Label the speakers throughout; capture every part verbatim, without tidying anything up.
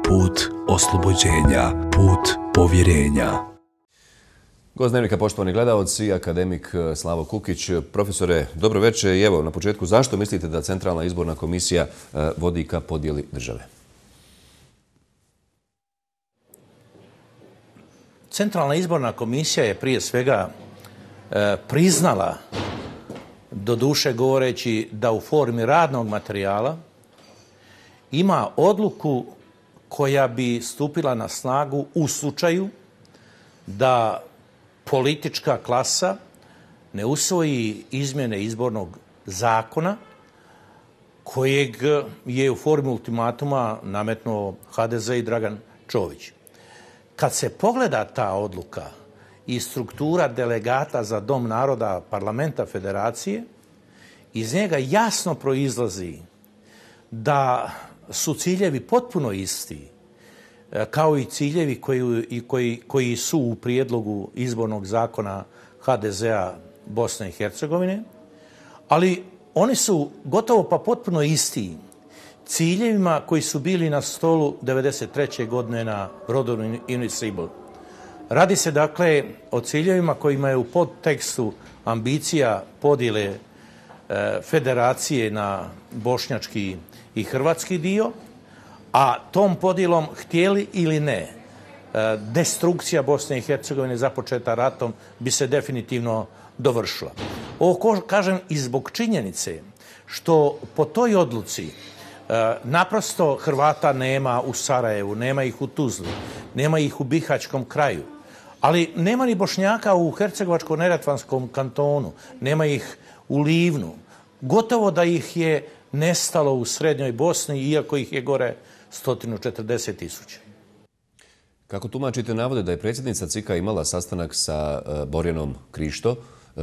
Speaker 1: put oslobođenja, put povjerenja.
Speaker 2: Gost Dnevnika, poštovani gledaoci, akademik Slavo Kukić. Profesore, dobro večer i evo na početku, zašto mislite da Centralna izborna komisija vodi ka podjeli države?
Speaker 3: Centralna izborna komisija je prije svega e, priznala, doduše govoreći da u formi radnog materijala ima odluku koja bi stupila na snagu u slučaju da politička klasa ne usvoji izmjene izbornog zakona kojeg je u formi ultimatuma nametnuo ha de ze i Dragan Čović. Kad se pogleda ta odluka i struktura delegata za Dom naroda parlamenta federacije, iz njega jasno proizlazi da su ciljevi potpuno isti, kao i ciljevi koji, i koji, koji su u prijedlogu izbornog zakona ha de zea Bosne i Hercegovine, ali oni su gotovo pa potpuno isti ciljevima koji su bili na stolu devedeset treće godine na Broadu Invincible. Radi se dakle o ciljevima kojima je u podtekstu ambicija podjele e, federacije na bošnjački i hrvatski dio, a tom podjelom, htjeli ili ne, e, destrukcija Bosne i Hercegovine započeta ratom bi se definitivno dovršila. Ovo kažem i zbog činjenice što po toj odluci naprosto Hrvata nema u Sarajevu, nema ih u Tuzli, nema ih u Bihaćkom kraju, ali nema ni Bošnjaka u Hercegovačko-neretvanskom kantonu, nema ih u Livnu. Gotovo da ih je nestalo u srednjoj Bosni, iako ih je gore sto četrdeset tisuća.
Speaker 2: Kako tumačite navode da je predsjednica C I K-a imala sastanak sa Borjanom Krišto?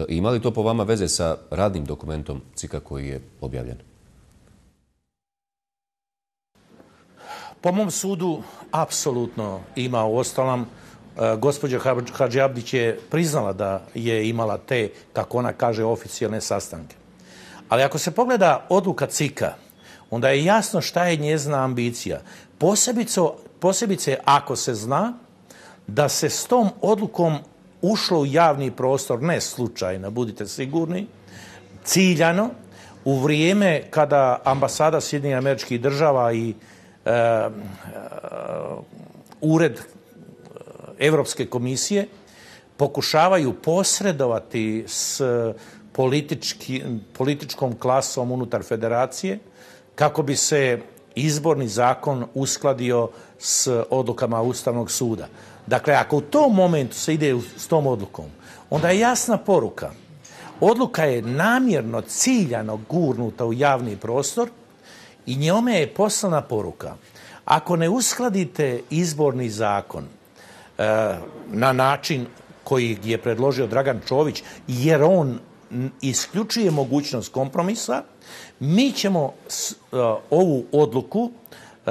Speaker 2: Ima li to po vama veze sa radnim dokumentom C I K-a koji je objavljen?
Speaker 3: Po mom sudu, apsolutno ima. Uostalom, gospođa Hadžiabdić je priznala da je imala te, kako ona kaže, oficijalne sastanke. Ali ako se pogleda odluka C I K-a, onda je jasno šta je njezina ambicija. Posebice, posebice ako se zna da se s tom odlukom ušlo u javni prostor, ne slučajno, budite sigurni, ciljano, u vrijeme kada ambasada Sjedinjenih Američkih Država i Uh, uh, ured Europske komisije pokušavaju posredovati s politički, političkom klasom unutar federacije kako bi se izborni zakon uskladio s odlukama Ustavnog suda. Dakle, ako u tom momentu se ide s tom odlukom, onda je jasna poruka. Odluka je namjerno, ciljano gurnuta u javni prostor i njome je poslana poruka. Ako ne uskladite izborni zakon e, na način koji je predložio Dragan Čović, jer on isključuje mogućnost kompromisa, mi ćemo s, e, ovu odluku e,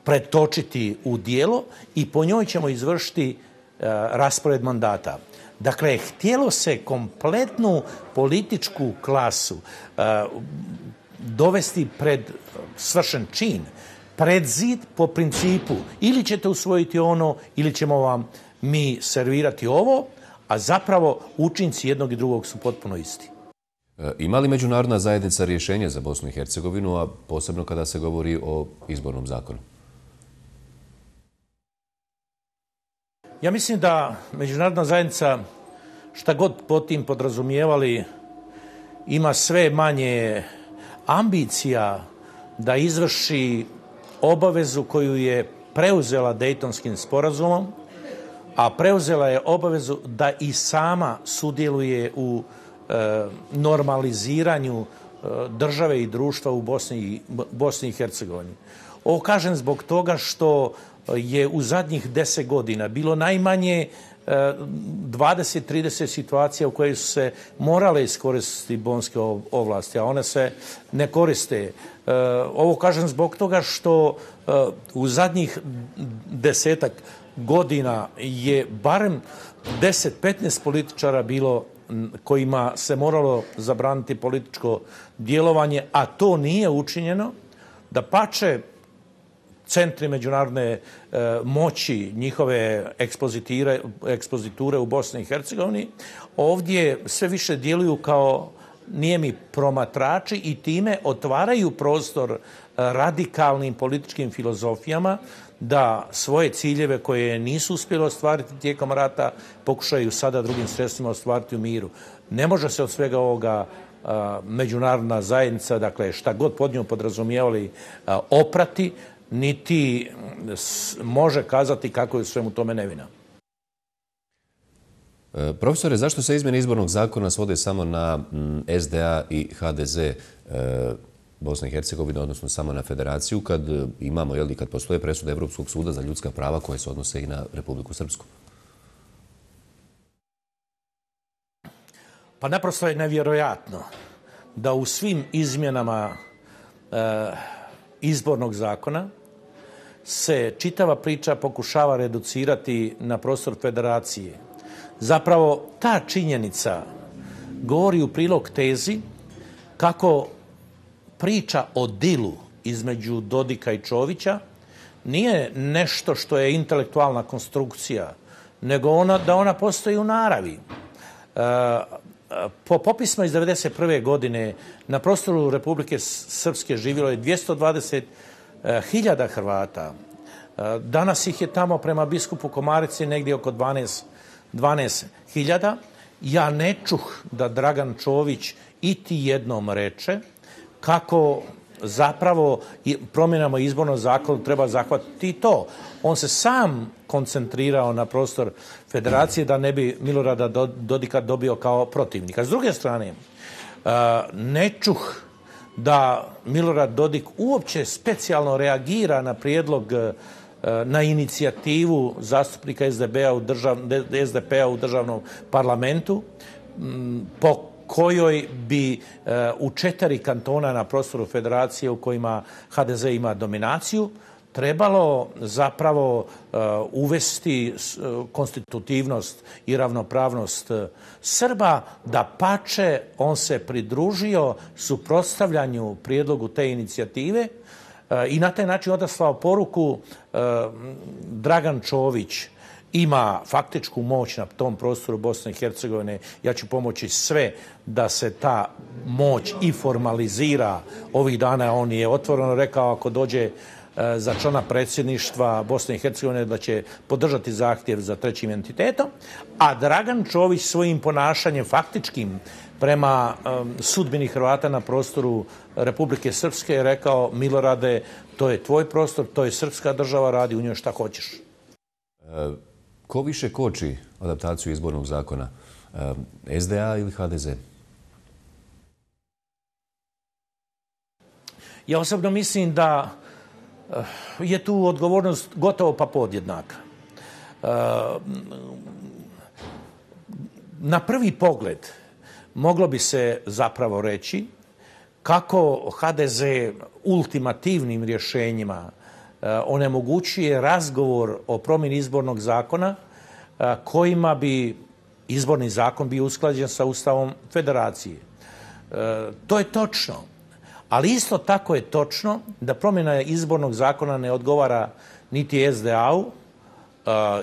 Speaker 3: pretočiti u djelo i po njoj ćemo izvršiti e, raspored mandata. Dakle, htjelo se kompletnu političku klasu e, dovesti pred svršen čin, pred zid po principu ili ćete usvojiti ono ili ćemo vam mi servirati ovo, a zapravo učinci jednog i drugog su potpuno isti.
Speaker 2: Ima li međunarodna zajednica rješenje za Bosnu i Hercegovinu, a posebno kada se govori o izbornom zakonu?
Speaker 3: Ja mislim da međunarodna zajednica, šta god po tim podrazumijevali, ima sve manje ambicija da izvrši obavezu koju je preuzela Dejtonskim sporazumom, a preuzela je obavezu da i sama sudjeluje u e, normaliziranju e, države i društva u Bosni, Bosni i Hercegovini. Ovo kažem zbog toga što je u zadnjih deset godina bilo najmanje dvadeset trideset situacija u kojoj su se morale iskoristiti bonske ovlasti, a one se ne koriste. Ovo kažem zbog toga što u zadnjih desetak godina je barem deset petnaest političara bilo kojima se moralo zabraniti političko djelovanje, a to nije učinjeno. Dapače, centri međunarodne e, moći, njihove ekspoziture u Bosni i Hercegovini, ovdje sve više djeluju kao nijemi promatrači i time otvaraju prostor radikalnim političkim filozofijama da svoje ciljeve koje nisu uspjeli ostvariti tijekom rata pokušaju sada drugim sredstvima ostvariti u miru. Ne može se od svega ovoga a, međunarodna zajednica, dakle šta god pod njom podrazumijevali, a, oprati, niti s, može kazati kako je u svemu tome nevina.
Speaker 2: E, profesore, zašto se izmjene izbornog zakona svode samo na m, S D A i H D Z e, Bosne i Hercegovine, odnosno samo na federaciju, kad imamo, jel, kad postoje presude Evropskog suda za ljudska prava koje se odnose i na Republiku Srpsku?
Speaker 3: Pa naprosto je nevjerojatno da u svim izmjenama e, izbornog zakona se čitava priča pokušava reducirati na prostor federacije. Zapravo ta činjenica govori u prilog tezi kako priča o dilu između Dodika i Čovića nije nešto što je intelektualna konstrukcija, nego ona, da ona postoji u naravi. E, po popisima iz devedeset prve godine na prostoru Republike Srpske živjelo je dvjesto dvadeset hiljada Hrvata. E, danas ih je tamo prema biskupu Komarici negdje oko dvanaest hiljada. Ja ne čuh da Dragan Čović iti jednom reče kako zapravo promjenama izbornog zakona treba zahvatiti to. On se sam koncentrirao na prostor federacije da ne bi Milorada Dodika dobio kao protivnika. S druge strane, ne čuh da Milorad Dodik uopće specijalno reagira na prijedlog, na inicijativu zastupnika S D P-a u, držav, S D P-a u državnom parlamentu, po kojoj bi u četiri kantona na prostoru federacije u kojima H D Z ima dominaciju trebalo zapravo uvesti konstitutivnost i ravnopravnost Srba. Da pače, on se pridružio suprotstavljanju prijedlogu te inicijative i na taj način odaslao poruku Dragan Čović ima faktičku moć na tom prostoru Bosne i Hercegovine. Ja ću pomoći sve da se ta moć i formalizira. Ovih dana on je otvoreno rekao ako dođe za člana predsjedništva Bosne i Hercegovine da će podržati zahtjev za trećim entitetom, a Dragan Čović svojim ponašanjem faktičkim prema um, sudbini Hrvata na prostoru Republike Srpske je rekao Milorade, to je tvoj prostor, to je srpska država, radi u njoj šta hoćeš.
Speaker 2: E, ko više koči adaptaciju izbornog zakona? E, S D A ili H D Z?
Speaker 3: Ja osobno mislim da je tu odgovornost gotovo pa podjednaka. Na prvi pogled moglo bi se zapravo reći kako H D Z ultimativnim rješenjima onemogućuje razgovor o promjeni izbornog zakona kojima bi izborni zakon bio usklađen sa Ustavom Federacije. To je točno. Ali isto tako je točno da promjena izbornog zakona ne odgovara niti S D A-u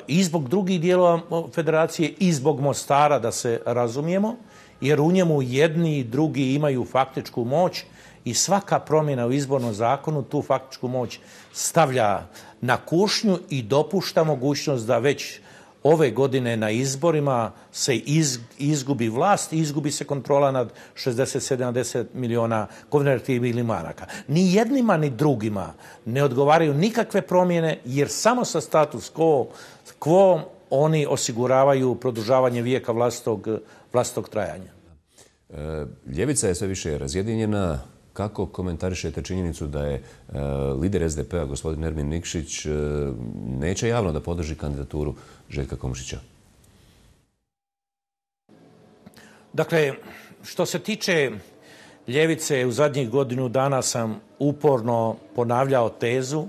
Speaker 3: i zbog drugih dijelova federacije i zbog Mostara, da se razumijemo, jer u njemu jedni i drugi imaju faktičku moć i svaka promjena u izbornom zakonu tu faktičku moć stavlja na kušnju i dopušta mogućnost da već ove godine na izborima se iz, izgubi vlast i izgubi se kontrola nad šezdeset sedamdeset miliona konvertibilnih maraka. Ni jednima ni drugima ne odgovaraju nikakve promjene jer samo sa status quo, quo oni osiguravaju produžavanje vijeka vlastitog, vlastitog trajanja.
Speaker 2: E, ljevica je sve više razjedinjena. Kako komentarišete činjenicu da je e, lider S D P-a, gospodin Ermin Nikšić, e, neće javno da podrži kandidaturu Željka Komšića?
Speaker 3: Dakle, što se tiče ljevice, u zadnjih godinu dana sam uporno ponavljao tezu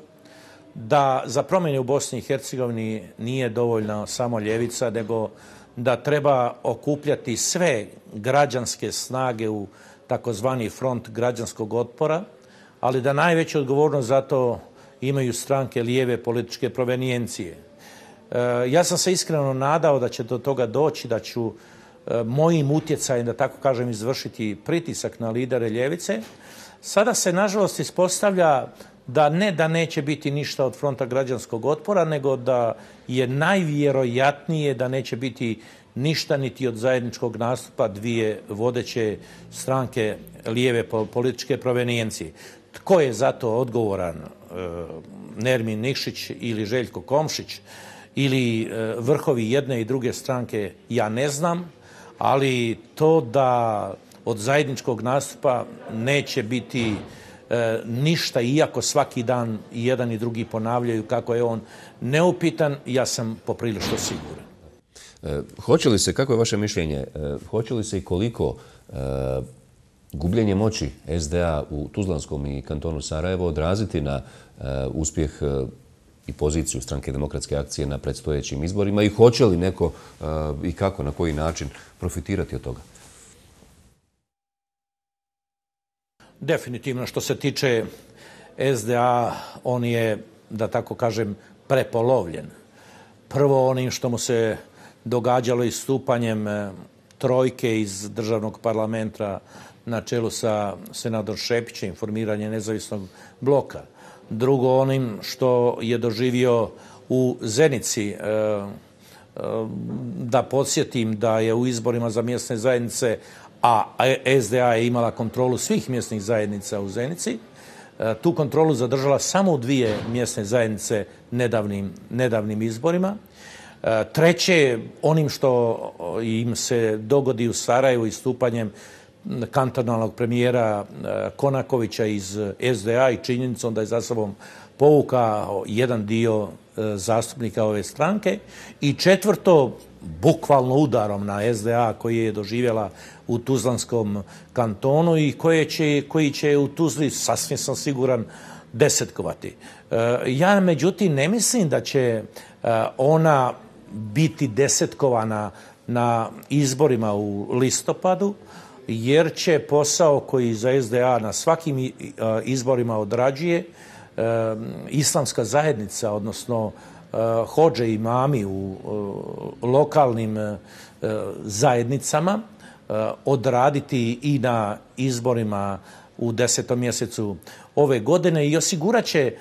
Speaker 3: da za promjene u Bosni i Hercegovini nije dovoljno samo ljevica, nego da treba okupljati sve građanske snage u takozvani front građanskog otpora, ali da najveću odgovornost za to imaju stranke lijeve političke provenijencije. Ja sam se iskreno nadao da će do toga doći, da ću mojim utjecajem, da tako kažem, izvršiti pritisak na lidere ljevice. Sada se, nažalost, ispostavlja da ne da neće biti ništa od Fronta građanskog otpora, nego da je najvjerojatnije da neće biti ništa niti od zajedničkog nastupa dvije vodeće stranke lijeve političke provenijencije. Tko je za to odgovoran? Nermin Nikšić ili Željko Komšić ili vrhovi jedne i druge stranke, ja ne znam, ali to da od zajedničkog nastupa neće biti e, ništa, iako svaki dan i jedan i drugi ponavljaju kako je on neupitan, ja sam poprilično siguran.
Speaker 2: E, hoće li se, kako je vaše mišljenje, e, hoće li se i koliko e, gubljenje moći S D A u Tuzlanskom i kantonu Sarajevo odraziti na e, uspjeh e, i poziciju Stranke demokratske akcije na predstojećim izborima i hoće li neko e, i kako, na koji način profitirati od toga?
Speaker 3: Definitivno, što se tiče S D A, on je, da tako kažem, prepolovljen. Prvo onim što mu se događalo istupanjem trojke iz državnog parlamenta na čelu sa senator Šepićem, formiranje nezavisnog bloka. Drugo onim što je doživio u Zenici. Da podsjetim da je u izborima za mjesne zajednice, a S D A je imala kontrolu svih mjesnih zajednica u Zenici, tu kontrolu zadržala samo u dvije mjesne zajednice nedavnim, nedavnim izborima. Treće, onim što im se dogodi u Sarajevu istupanjem kantonalnog premijera Konakovića iz S D A i činjenicom da je za sobom povukao jedan dio zastupnika ove stranke. I četvrto, bukvalno udarom na S D A koji je doživjela u Tuzlanskom kantonu i koje će, koji će u Tuzli, sasvim sam siguran, desetkovati. Ja, međutim, ne mislim da će ona biti desetkovana na izborima u listopadu, jer će posao koji za S D A na svakim izborima odrađuje islamska zajednica, odnosno hodže i imami u lokalnim zajednicama, odraditi i na izborima u desetom mjesecu ove godine i osigurat će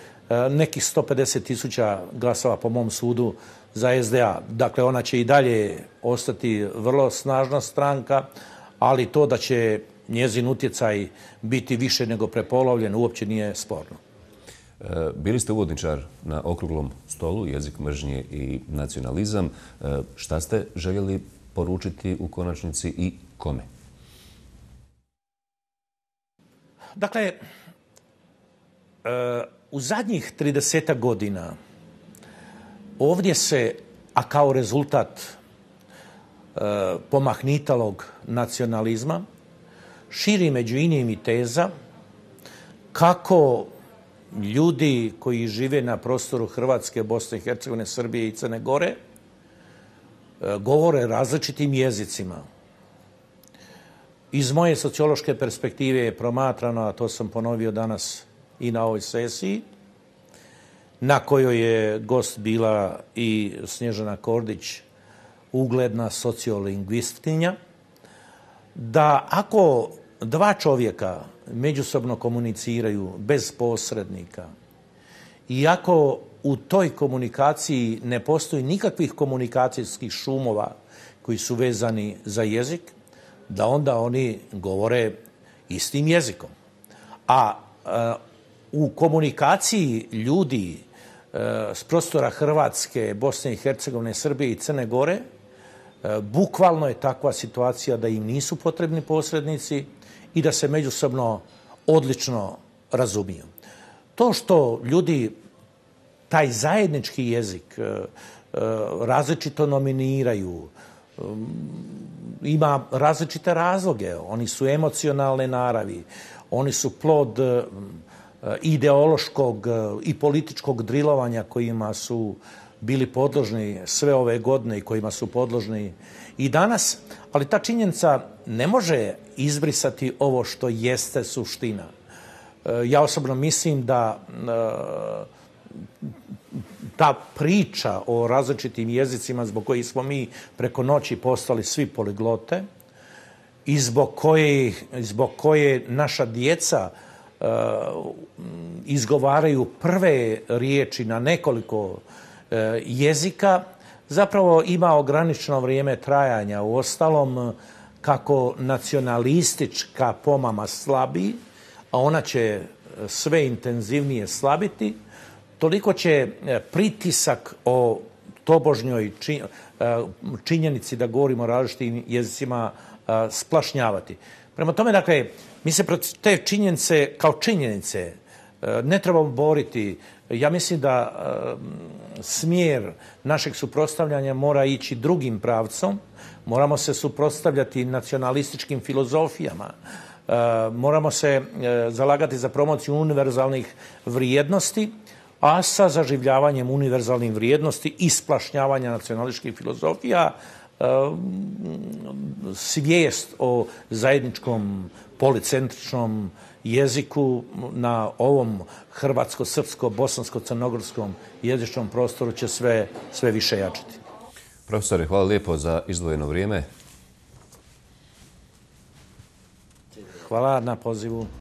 Speaker 3: nekih sto pedeset tisuća glasova, po mom sudu, za S D A. Dakle, ona će i dalje ostati vrlo snažna stranka, ali to da će njezin utjecaj biti više nego prepolovljen uopće nije sporno.
Speaker 2: Bili ste uvodničar na okruglom stolu, jezik mržnje i nacionalizam. Šta ste željeli poručiti u konačnici i kome?
Speaker 3: Dakle, u zadnjih tridesetak godina ovdje se, a kao rezultat pomahnitalog nacionalizma, širi među inim i teza kako ljudi koji žive na prostoru Hrvatske, Bosne i Hercegovine, Srbije i Crne Gore govore različitim jezicima. Iz moje sociološke perspektive je promatrano, a to sam ponovio danas i na ovoj sesiji, na kojoj je gost bila i Snježana Kordić, ugledna sociolingvistkinja, da ako dva čovjeka međusobno komuniciraju bez posrednika i ako u toj komunikaciji ne postoji nikakvih komunikacijskih šumova koji su vezani za jezik, da onda oni govore istim jezikom. A u komunikaciji ljudi s prostora Hrvatske, Bosne i Hercegovine, Srbije i Crne Gore, bukvalno je takva situacija da im nisu potrebni posrednici i da se međusobno odlično razumiju. To što ljudi taj zajednički jezik različito nominiraju, ima različite razloge. Oni su emocionalne naravi, oni su plod ideološkog i političkog drilovanja kojima su bili podložni sve ove godine i kojima su podložni i danas, ali ta činjenica ne može izbrisati ovo što jeste suština. Ja osobno mislim da ta priča o različitim jezicima zbog kojih smo mi preko noći postali svi poliglote i zbog koje, zbog koje naša djeca uh, izgovaraju prve riječi na nekoliko uh, jezika, zapravo ima ograničeno vrijeme trajanja. U ostalom, kako nacionalistička pomama slabi, a ona će sve intenzivnije slabiti, toliko će pritisak o tobožnjoj činjenici da govorimo o različitim jezicima splašnjavati. Prema tome, dakle, mi se protiv te činjenice kao činjenice ne trebamo boriti. Ja mislim da smjer našeg suprotstavljanja mora ići drugim pravcom. Moramo se suprotstavljati nacionalističkim filozofijama. Moramo se zalagati za promociju univerzalnih vrijednosti, a sa zaživljavanjem univerzalnih vrijednosti i splašnjavanja nacionalističkih filozofija svijest o zajedničkom policentričnom jeziku na ovom hrvatsko-srpsko-bosansko-crnogorskom jezičnom prostoru će sve, sve više jačati.
Speaker 2: Profesore, hvala lijepo za izdvojeno vrijeme.
Speaker 3: Hvala na pozivu.